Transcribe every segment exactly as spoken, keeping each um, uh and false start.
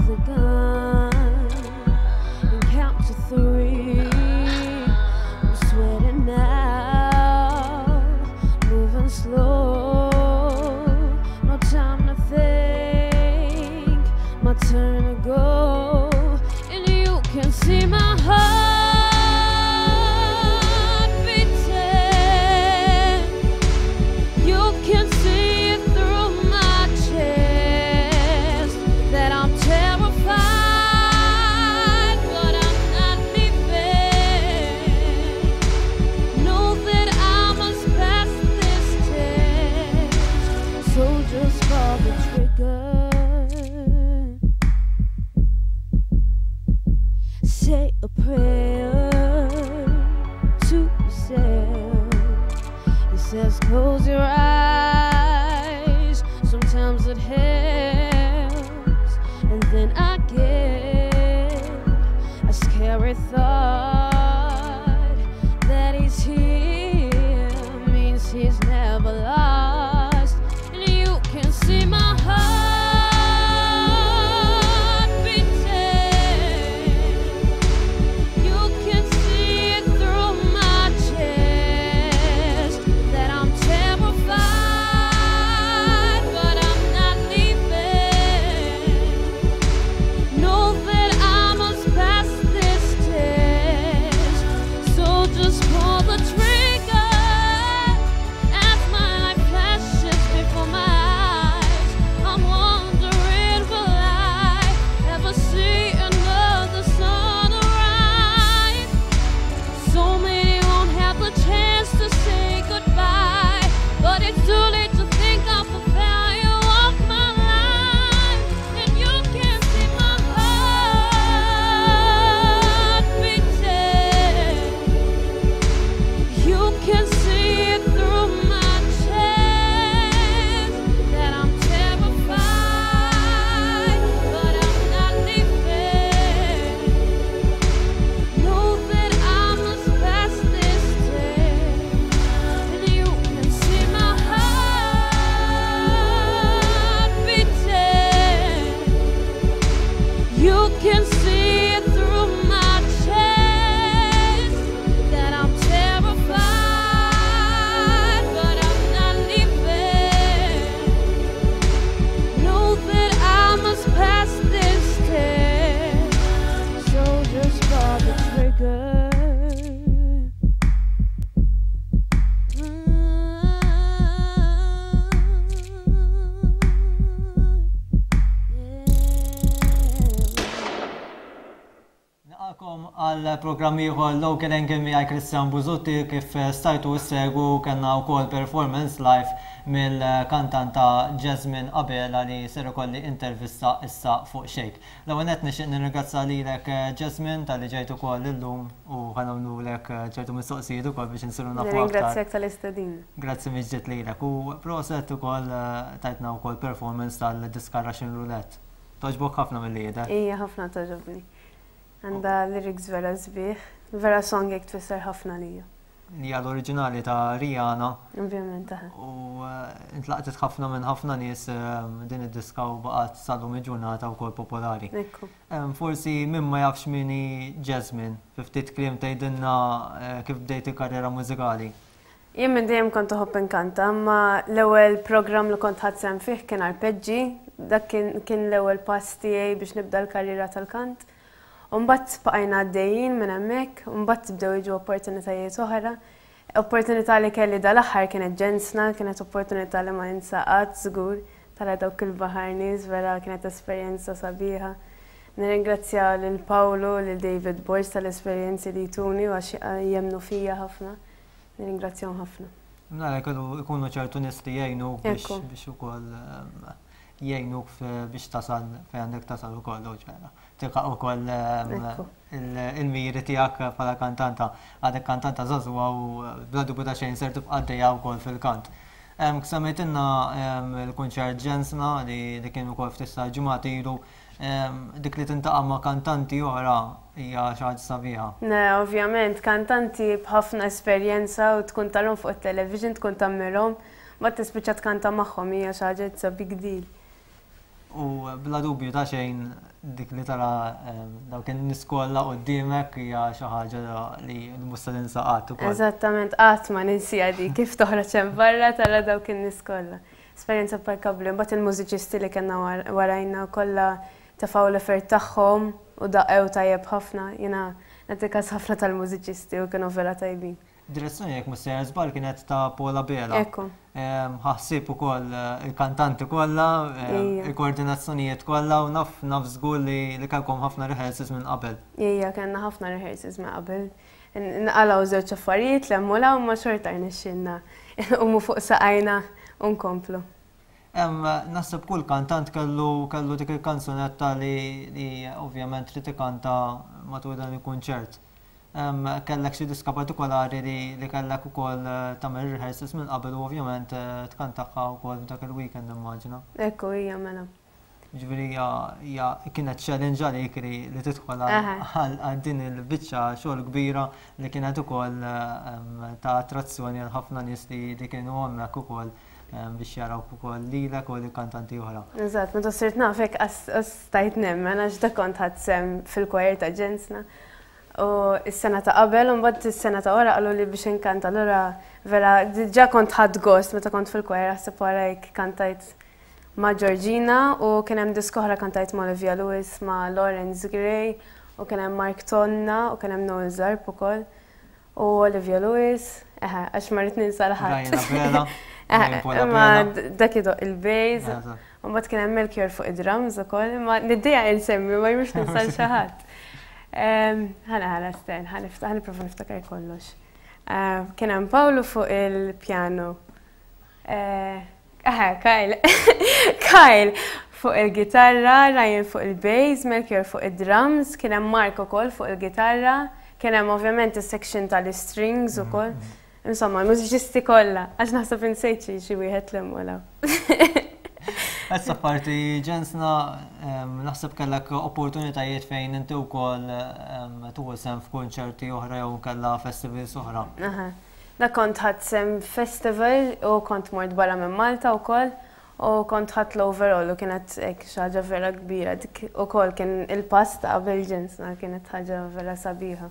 the gun and count to three. I'm sweating now, moving slow. No time to think, my turn to go. And you can see my heart beating. You can see it through my chest that I'm terrified, but I'm not leaving. Know that I must pass this test, so just pull the trigger. Say a prayer to yourself. He says, close your eyes. Sometimes it helps. And then I get a scary thought that he's here means he's never lost. And you can see my heart beating. You can see it through my chest that I'm terrified, but I'm not leaving. Know that I must pass this test, so just pull the trigger as my life flashes before my eyes. I'm wondering, will I ever see another sunrise? So many won't have the chance to say goodbye, but it's too late to think of the value of my life. And you can see my heart beating. You can see it through my chest that I'm terrified, but I'm not leaving. Know that I must pass this test, and you can see my heart beating. You can see it through my chest that I'm terrified, but I'm not leaving. Know that I must pass this test, so just pull the trigger. Nilqagħkom għal programm ieħor Local Angle miegħi Christian Buzutti kif stajtu ssegwu kellna wkoll performance live mill-kantanta Jasmine Abela li ser ikolli intervista issa fuq Xejk. L-ewwel nett nixtieq nirringrazzja lilek Jasmine talli ġejt ukoll illum u ħa nagħmlulek ċertu mistoqsijiet ukoll biex insiru nafu aktar. Nirringrazzjak tal-istedina. Grazzi mill-ġdid lilek u proset ukoll tajtna wkoll performance tal-diska Russian Roulette. Togħġbok ħafna milli jidher. Ija ħafna togħġobni. Għandha lyrics vera sbieħ, vera song jek tfisser ħafna lija. Li hija l-oriġinali ta' Rihanna Ovvjament taħ. u eh, intlaqtet ħafna minn ħafna nies eh, din id-diska u baqgħet sal-lum il-ġurnata wkoll popolari. Ekku. Em, Forsi min ma jafx min hi Jasmine, fi ftit kliem tgħidilna eh, kif bdejt il-karriera mużikali. Jien minn dejjem kont uħobb inkanta, imma l-ewwel programm li kont ħadt sehem fih kien arpeġġi, dak kien, kien l-ewwel pass tiegħi biex nibda l-karriera tal-kant. U mbagħad bqajna għaddejjin minn hemmhekk, u mbagħad bdew jiġu opportunitajiet oħra. Opportunità li kelli dal-aħħar kienet Ġensna, kienet opportunità li ma ninsa qatt żgur tara dawk il-baħar nies, vera kienet esperjenza sabiħa. Nirringrazzja lil Paolo, lil David Borg tal-esperjenzi li tuni u għax jemmnu fija ħafna. Nirringrazzjahom ħafna. Nara jkunu ikunu ċertu nies li jgħinuk biex Ekku. biex ukoll em, jgħinuk f- biex tasal fejn għandek tasal ukoll u ċara. Tilħaq ukoll em, Ekku. il- il-miri tiegħek bħala kantanta. Għadek kantanta żagħżugħa u bla dubju ta' xejn ser tibqa' għaddejja wkoll fil-kant. Em, Semmejtilna em, il-kunċert Ġensna li li kien ukoll ftit ta' ġimgħat ilu em, dik li tiltaqa' ma' kantanti oħra hija xi ħaġa sabiħa. Ne, ovvjament, kantanti b'ħafna esperjenza u tkun tarahom fuq il-television, tkun tammirhom, ma tispiċċa tkanta magħhom hija xi ħaġa it's a big deal. U bla dubju ta' xejn, dik li tara dawk in-nies kollha quddiemek hija xi ħaġa li mhux se tinsa qatt ukoll. Eżattament, qatt ma ninsieha di kif toħroġ hemm barra, tara dawk in-nies kollha. Esperjenza imparkabbli, mbagħad il-mużiċisti li kellna warajna kollha tefgħu l-effort tagħhom u daqqew tajjeb ħafna. Jiena nagħti kas ħafna tal-mużiċisti u kienu vera tajbin. Direzzjoni, jekk mhux sejjer żball, kienet ta' Paula Bela. Ekku. Ħa ħsieb ukoll il-kantanti kollha, il-koordinazzjonijiet kollha, u naf naf żgur li li kellkom ħafna rehearsals minn qabel. Ija, kellna ħafna rehearsals minn qabel. Nqalgħu żewġ affarijiet 'l hemm u 'l ma xorta rnexxielna nqumu fuq saqajna u nkomplu. Naħseb kull kantant kellu kellu dik il-kanzunetta li li ovvjament trid ikanta matul dan il-kunċert. Kellek xi diska partikolari li li kellek ukoll tagħmel rehearsals minn qabel u ovvjament tkantaha wkoll f'dak il-weekend, immaġina? Ekku, hija, mela. Ġifieri hija kienet challenge għalik li li tidħol għal din il-biċċa xogħol kbira li kienet ukoll ta' attrazzjoni għal ħafna nies li kienu hemmhekk ukoll biex jaraw ukoll lilek u l-kantanti oħra. Eżatt, meta sirt nafek stajt nemmen, għax da kont ħadt sehem fil-choir ta' Ġensna. U s-sena ta' qabel, u mbagħad is-sena ta' wara qalu li biex inkanta, allura vera diġà kont ħadt gost meta kont fil-choir, ħseb wara kantajt ma' Georgina u kien hemm diska oħra kantajt ma' Olivia Lewis, ma' Lawrence Gray u kien hemm Mark Tonna u kien hemm Noel Zarb ukoll u Olivia Lewis, eħe, għax ma rrid ninsa 'l ħadd. Imma dak idoqq il-bass, u mbagħad kien hemm Melchior fuq id-drums ukoll, imma niddejjaq insemmi ma jmux ninsa 'l xi ħadd. Ħana ħana sten, ħa nipprova niftakar kollox. Kien hemm Paolo fuq il-pjano. Eħe, Kyle. Kyle fuq il-gitarra, Ryan fuq il-bass, Melchior fuq il-drums, kien hemm Mark ukoll fuq il-gitarra, kien hemm ovvjament is-section tal-strings ukoll. Insomma, mużiċisti kollha, għax naħseb insejt xi wieħed 'l hemm. Issa parti Ġensna, naħseb kellek opportunitajiet fejn inti wkoll tieħu sehem f'konċerti oħra jew kellha festivals oħra. Da kont ħadt sehem festival u kont mort barra minn Malta wkoll u kont ħadt l-overall u kienet hekk xi ħaġa vera kbira. Dik ukoll kien il-pass ta' qabel Ġensna, kienet ħaġa vera sabiħa.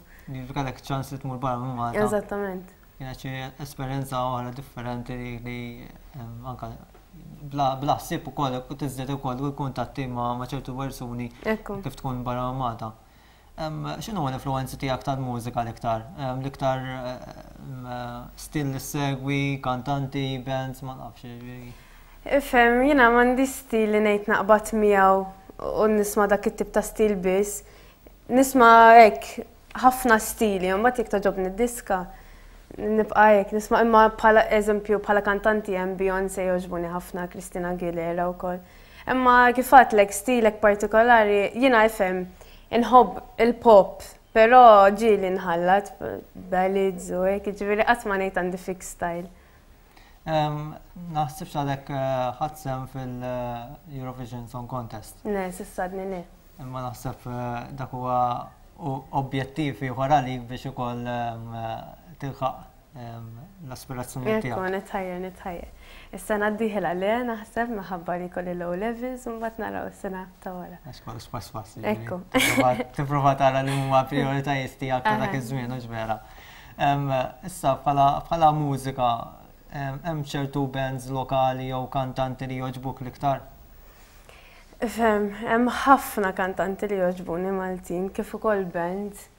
Kellek ċans li tmur barra minn Malta. Eżattament. Kienet xi esperjenza oħra differenti li anka bla ħsieb ukoll tiżdied ukoll il-kuntatti ma' ċertu persuni kif tkun barra minn Malta. X'inhu l-influenzi tiegħek tal-mużika l-iktar? L-iktar stil li segwi, kantanti, bands, ma nafx. Ifhem, jiena m'għandi stil li ngħid naqbad miegħu u nisma' dak it-tip ta' stil biss. Nisma' hekk ħafna stili, u mbagħad jekk togħġobni d-diska nibqa' hekk nisma', imma bħala eżempju bħala kantanti hemm Beyoncé jogħġbuni ħafna, Christina Aguilera wkoll. Imma kif għedtlek, stilek partikolari, jiena ifhem inħobb il-pop, però ġieli nħallat ballads u hekk, jiġifieri qatt ma ngħid għandi fix style. Naħsibx għadek ħadt sehem fil-Eurovision Song Contest. Ne, s'issa għadni le. Imma naħseb dak huwa objettiv ieħor għalik biex ukoll tilħaq l-aspirazzjoni tiegħek. Ekku, nitħajjar, nitħajjar. Is-sena d-dieħla le, naħseb, minħabba li kelli l-O levels, u mbagħad naraw is-sena ta' wara. Għax kollox pass pass. Ekku. Tipprova tara li huma prioritajiet tiegħek ta' dak iż-żmien, hux vera? Issa bħala mużika, hemm ċertu bands lokali jew kantanti li jogħġbuk l-iktar? Fem, hemm ħafna kantanti li jogħġbuni Maltin, kif ukoll bands.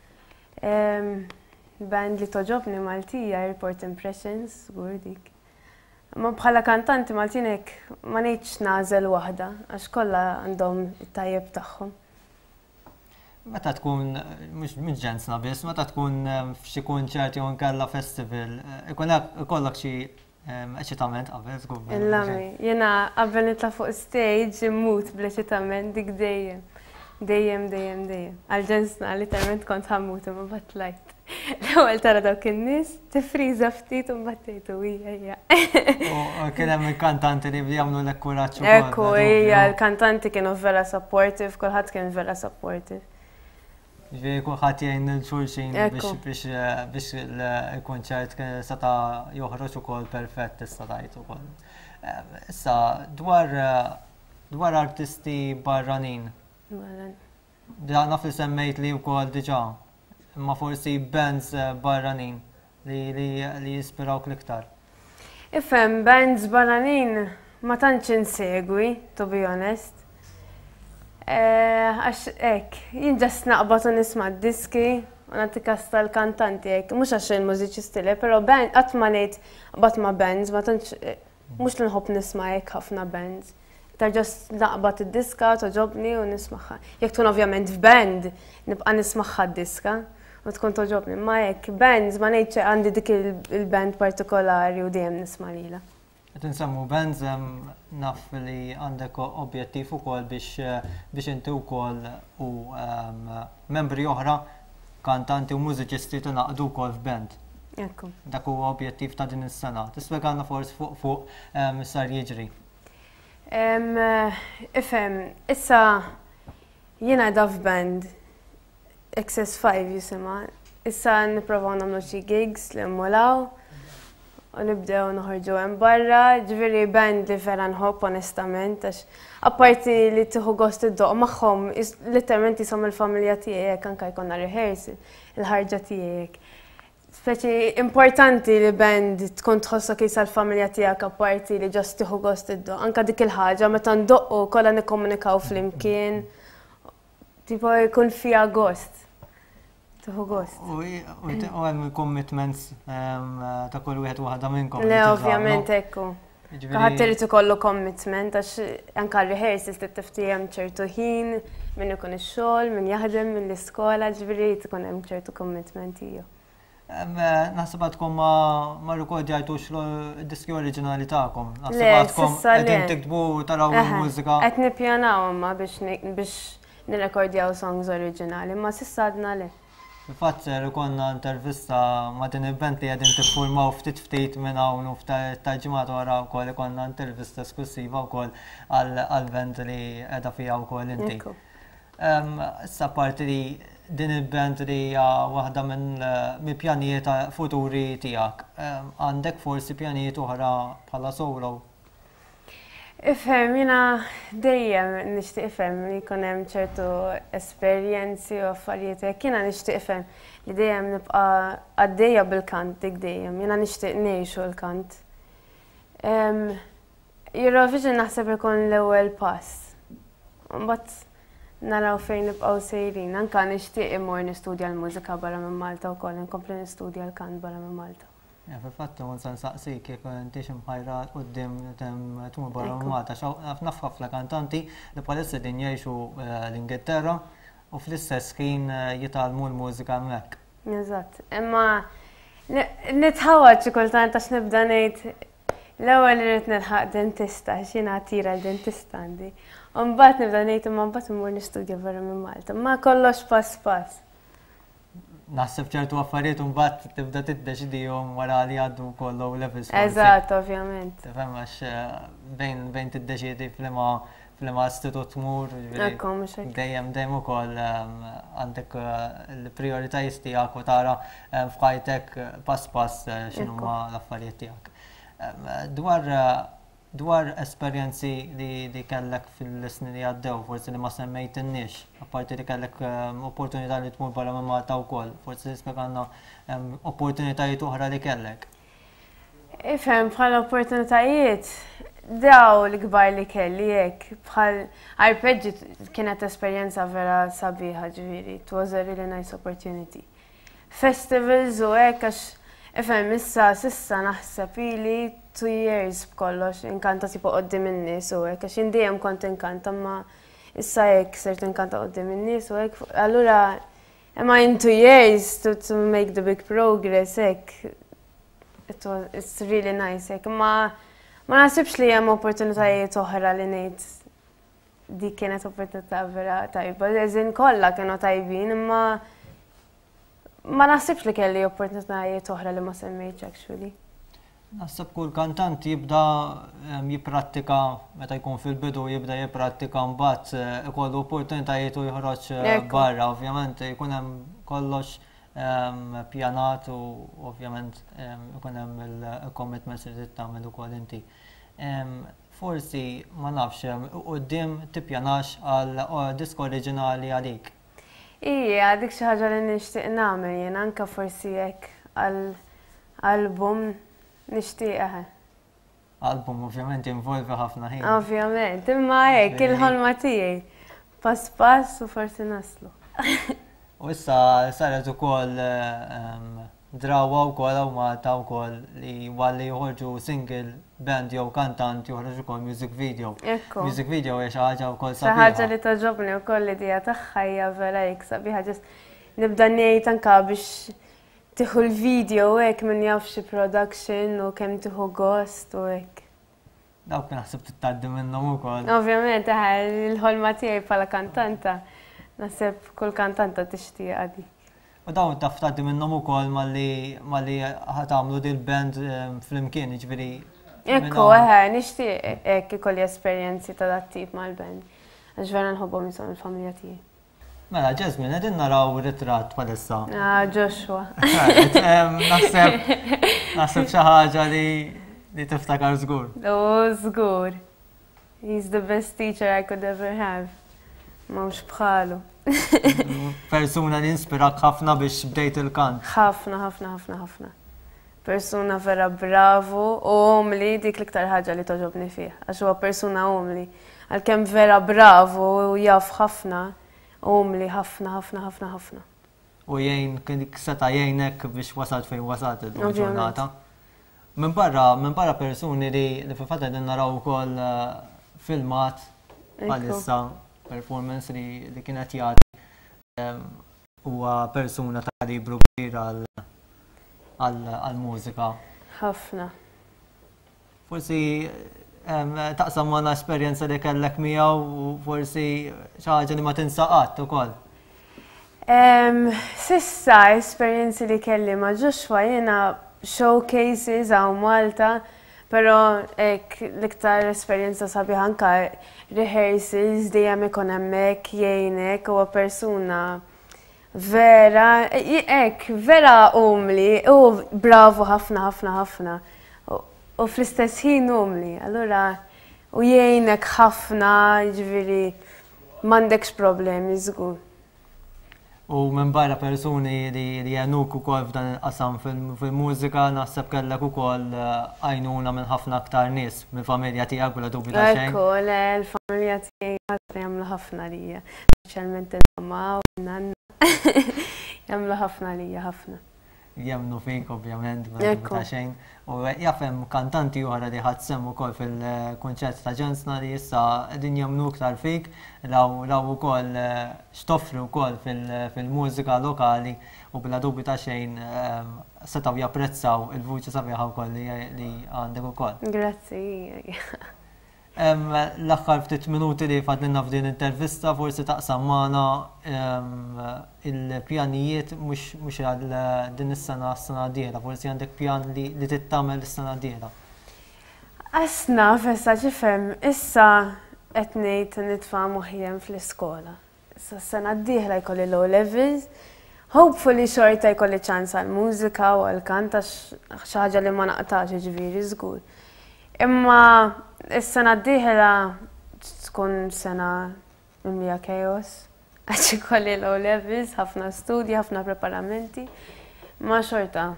Band li togħġobni Maltija, Airport Impressions, żgur dik. Ma bħala kantanti Maltin hekk ma ngħidx nagħżel waħda, għax kollha għandhom it-tajjeb tagħhom. Meta tkun, mhux minn Ġensna biss, meta tkun f'xi kunċert jew inkella festival, ikollok xi eċitament qabel, żgur? Illami, jiena qabel nitla' fuq stage immut bl-eċitament, dik dejjem. Dejjem, dejjem, dejjem. Għal Ġensna literalment kont ħa mmut, imma mbagħad tlajt. L-ewwel tara dawk in-nies, tifriża ftit u mbagħad tgħidu hija hija. U kien hemm il-kantanti li jagħmlu lek kuraġġ ukoll. Ekku, hija, l-kantanti kienu vera supportive, kulħadd kien vera supportive. Ġifieri kulħadd jgħin lil xulxin biex biex biex il-kunċert seta' joħroġ ukoll perfett, tista' tgħid ukoll. Issa dwar Dwar artisti barranin, da naf li semmejt li wkoll diġà, imma forsi bands eh, barranin li, li, li jispirawk l-iktar. Ifhem, bands barranin ma tantx insegwi, to be honest. Eh, għax hekk, jien just naqbad u nisma' diski u nagħti kas tal-kantanti hekk, mhux għax il-mużiċisti le, però band qatt ma ngħid qatt ma bands, ma tantx eh, mhux li nħobb nisma' hekk ħafna bands. Ta' just naqbad id-diska, togħġobni u nismagħha. Jekk tkun ovvjament f'band, nibqa' nismagħha d-diska u tkun togħġobni. Ma hekk bands ma ngħidx għandi dik il-band partikolari u dejjem nisma' lilha. Qed insemmu bands, em, naf li għandek objettiv ukoll biex eh, biex inti wkoll u em, membri oħra, kantanti u mużiċisti, tingħaqdu wkoll f'band. Ekku. Dak huwa objettiv ta' din is-sena. Tispjegalna forsi fuq fuq em, sar jiġri. Em, Ifhem, issa jiena da f'band X S five jisimha. Issa nipprovaw nagħmlu xi gigs li mmulaw u nibdew noħorġu hemm barra, ġifieri band li vera nħobb onestament, għax apparti li tieħu gost iddoqq magħhom, is- literalment jisom il-familja tiegħek, anke jkollna rehearsal, il-ħarġa tiegħek. Speċi importanti li band tkun tħossok jisa l-familja tiegħek, apparti li just tieħu gost iddoqq. Anka dik il-ħaġa meta ndoqqu kollha nikkomunikaw flimkien, tipo jkun fija gost. Tieħu gost. U u hemm commitments em, ta' kull wieħed u waħda minnkom li Le, tiżgħu, ovvjament no? ekku. Jiġifieri- Ħadd irid ikollu commitment għax anka rehearsals trid tiftiehem ċertu ħin, min ikun ix-xogħol, min jaħdem, min l-iskola, ġifieri jrid ikun hemm ċertu commitment iju. Em, eh, Naħseb għadkom ma ma rrekordjajtux l-diski oriġinali tagħkom. Naħseb Le, għadkom s'issa le. qegħdin tiktbu, taraw Eħe, il-mużika. Qed nippjanaw imma biex ni- biex nirrekordjaw songs oriġinali, ma s'issa għadna le. Fil-fatt ser ikollna intervista ma' din il-band li qegħdin tiffurmaw ftit ftit minn hawn u ftit ġimgħat wara wkoll ikollna intervista esklusiva wkoll għal-band li qiegħda fiha wkoll inti. Ekku. Em, Issa parti li din il-band li hija waħda minn mill pjanijiet futuri tiegħek. Em, Għandek forsi pjanijiet oħra bħala solo? Ifhem, jiena dejjem nixtieq, ifhem, li jkun hemm ċertu esperjenzi u affarijiet hekk. Jiena nixtieq, ifhem, li dejjem nibqa' għaddejja bil-kant dik dejjem. Jiena nixtieq ngħixu l-kant. Em, Eurovision naħseb ikun l-ewwel pass. Mbagħad naraw fejn nibqgħu sejrin. Anka nixtieq immur nistudja l-mużika barra minn Malta wkoll, inkompli nistudja l-kant barra minn Malta. Ja, fil-fatt kont se nsaqsik jekk intix imħajra quddiem tem tmur barra Ekku. minn Malta. Xaw naf ħafna kantanti li bħalissa din jgħixu eh, l-Ingilterra u fl-istess ħin eh, jitgħallmu l-mużika hemmhekk. Eżatt, imma ni- nitħawad xi kultant għax nibda ngħid l-ewwel irid nilħaq dentista, għax jiena tira l-dentista għandi. U mbagħad nibda ngħid imma mbagħad immur nistudja barra minn Malta. Ma kollox pass pass. Naħseb ċertu affarijiet mbagħad tibda tiddeċidihom wara li għaddu kollu levels forsi. Eżatt, ovvjament. Tifhem, għax eh, bejn bejn tiddeċidi f'liema f'liema istitut tmur, ġifieri Ekku, mhux hekk. dejjem dejjem ukoll ehm, għandek eh, il-prioritajiet tiegħek u tara eh, f'ħajtek eh, pass pass eh, x'inhuma l-affarijiet tiegħek. Ehm, Dwar eh, dwar esperjenzi li, li kellek fil-snin li għaddew, forsi li ma semmejtinniex, apparti li kellek ehm, opportunità li tmur barra minn Malta wkoll, forsi tispjegalna ehm, opportunitajiet oħra li kellek. Ifhem, bħal opportunitajiet, daw l-kbar li kelli hekk, bħal Arpeggi kienet esperjenza vera sabiħa ġifieri, it was a really nice opportunity. Festivals u hekk, għax ifhem, issa s'issa naħseb ili two years b'kollox inkanta tipo quddiem in-nies u hekk, għax jien dejjem kont inkanta, ma issa hekk sirt inkanta quddiem in-nies u hekk, allura imma in two years to, to make the big progress hekk, it was, it's really nice hekk, ma ma naħsibx li hemm opportunitajiet oħra li ngħid dik kienet opportunità vera tajba. Eżin kollha kienu tajbin, imma ma naħsibx li kelli opportunitajiet oħra li ma semmejtx actually. Naħseb kull kantant jibda em, jipprattika meta jkun fil-bidu, jibda jipprattika, mbagħad eh, ikollu opportunitajiet u joħroġ eh, Ekku. barra. Ovvjament jkun hemm kollox em, pjanat u ovvjament em, ikun hemm il-commitments li trid tagħmel ukoll inti. Em, Forsi, ma nafx, quddiem tippjanax għal diska oriġinali għalik. Ija, dik xi ħaġa li nixtieq nagħmel jien, anke forsi hekk għal album nixtieq, eħe. Album ovvjament involvi ħafna ħin. Ovvjament, imma hekk il-ħolma tiegħi. Pass pass u forsi naslu. U issa saret ukoll ehm, drawa wkoll hawn Malta wkoll li walli joħorġu single band jew kantant, joħroġ ukoll music video. Ekku. Music video hija xi ħaġa wkoll Xi ħaġa sabiħa. li togħġobni wkoll, l-idea tagħha hija vera hekk sabiħa. Just nibda ngħid anka biex tieħu l-video hekk, min jaf xi production u kemm tieħu gost u hekk. Dawk naħseb tgħaddi minnhom ukoll. Ovvjament, eħe, il-ħolma tiegħi bħala kantanta, naħseb kull kantanta tixtieq dik. U dawn taf tgħaddi minnhom ukoll malli malli ħa tagħmlu dil band ehm, flimkien, jiġifieri. Ekku, eħe, nixtieq hekk ikolli esperjenzi ta' dat tip mal-band. Għax vera nħobbhom, jisom il-familja tiegħi. Mela, Jasmine, qegħdin naraw ritratt bħalissa. Ah, Joshua. Ehm, Naħseb naħseb xi ħaġa li li tiftakar żgur. Oh, żgur. He's the best teacher I could ever have. M'hawnx bħalu. Persuna li inspirak ħafna biex bdejt il-kant. Ħafna, ħafna, ħafna, ħafna. Persuna vera bravu u umli, dik l-iktar ħaġa li togħġobni fih. Għax huwa persuna umli. Għalkemm vera bravu u jaf ħafna, umli ħafna, ħafna, ħafna, ħafna. U jgħin, kien seta' jgħinek biex wasalt fejn wasalt illum Ovvjament. ġurnata. Minn barra, minn barra persuni li li fil-fatt qegħdin naraw ukoll eh, filmat bħalissa, performance li, li kienet jagħti, em, huwa persuna ta' kalibru kbir għal għal mużika. Ħafna. Forsi em, taqsam magħna esperjenza li kellek miegħu u forsi xi ħaġa li ma tinsa qatt ukoll. Em, S'issa, esperjenzi li kelli ma' Joshua jena showcases hawn Malta, pero hekk l-iktar esperjenza sabiħa anka rehearsals, dejjem ikun hemmhekk jgħinek, huwa persuna vera, hekk, vera umli u bravu ħafna, ħafna, ħafna. U- U fl-istess ħin umli, allura u jgħinek ħafna, ġifieri m'għandekx problemi żgur. U minn barra persuni li li għenuk ukoll f'dan il-qasam fil- fil-mużika, naħseb kellek ukoll eh, għajnuna minn ħafna aktar nies, minn familja tiegħek bla dubju ta' xejn. Ekku, le, l-familja tiegħi ħafna jagħmlu ħafna lija. Speċjalment il-mamma u n-nanna. Jagħmlu ħafna lija, ħafna. Jemmnu fik ovvjament, bla dubju Ekku. ta' xejn. U jaf hemm kantanti oħra li ħadt sehem ukoll fil-kunċert ta' Ġensna li issa qegħdin jemmnu iktar fik, raw raw ukoll eh, x'toffri wkoll fil- fil-mużika lokali u bla dubju ta' xejn eh, setgħu japprezzaw il-vuċi sabiħa wkoll li li għandek ukoll. Grazzi. Em, L-aħħar ftit minuti li fadlilna f'din intervista, forsi taqsam magħna em, il-pjanijiet mhux mhux għal din is-sena, s-sena d-dieħla, forsi għandek pjan li, li tittamel is-sena d-dieħla. Asna, fessa ġifem, issa qed ngħid nitfa' moħħi hemm fl-iskola. Issa s-sena d-dieħla jkolli l-O levels. Hopefully xorta jkolli ċans għal-mużika u għal-kant, għax xi ħaġa li ma naqtax, ġifieri żgur. Imma is-sena d-dieħla tkun sena mimlija chaos, għax ikolli l-O levels, ħafna studji, ħafna preparamenti. Ma xorta.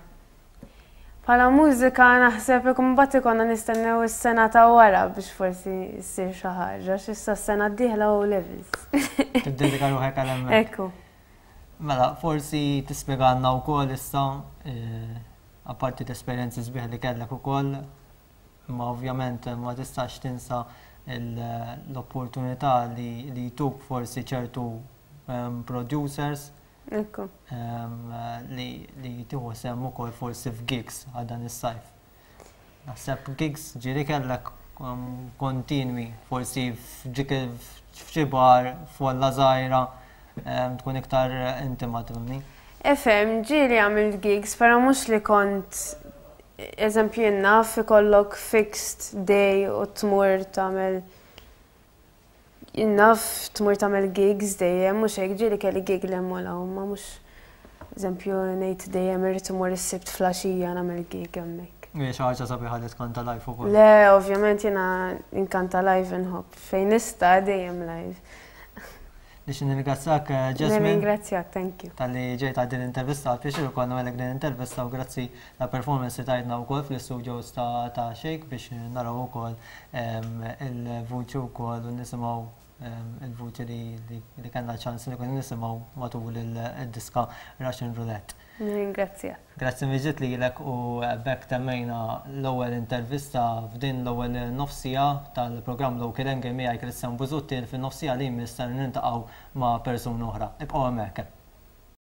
Bħala mużika naħseb ikun mbagħad ikollna nistennew is-sena ta' wara biex forsi ssir xi ħaġa, għax issa s-sena d-dieħla O levels. Tiddedika ruħek għal hemmhekk. Ekku. Mela, forsi tispjegalna wkoll issa, eh, apparti l-esperjenzi sbieħ li kellek ukoll, imma ovvjament ma tistax tinsa il- l-opportunità li li jtuk forsi ċertu em, producers Ekku. em, li li tieħu sehem ukoll forsi f'gigs għal dan is-sajf. Naħseb gigs ġieli kellek um, kontinwi, forsi f'ġik f'xi bar, f'folla żgħira, em, tkun iktar intima, tifhimni. Ifhem, ġieli għamilt gigs, pero mhux li kont, eżempju, naf ikollok fixed day u tmur tagħmel, naf tmur tagħmel gigs dejjem, mhux hekk. Ġieli kelli gig 'l hemm u 'l hawn, ma mhux eżempju ngħid dejjem irrid imur is-Sibt filgħaxija nagħmel gig hemmhekk. Hija xi ħaġa sabiħa li tkanta live ukoll. Le, ovvjament jiena nkanta live, nħobb. Fejn nista' dejjem live. Nixtieq nirringrazzjak, eh, Jasmine. Nirringrazzjak, thank you. Talli ġejt għal din intervista, pjaċir ukoll nagħmellek din intervista u grazzi la performance li tajtna wkoll fl-studios ta' ta' Shake biex naraw ukoll em, il-vuċi wkoll u nisimgħu em, il-vuċi li, li, li kellna ċans li kun nisimgħu matul il-diska Russian Roulette. Nirringrazzjak. Grazzi mill-ġdid lilek u b'hekk temmejna l-ewwel intervista f'din l-ewwel nofs siegħa tal-programm Local Angle miegħi, Christian Busuttil. Fin-nofs siegħa li jmiss niltaqgħu ma' persuna oħra. Ibqgħu hemmhekk.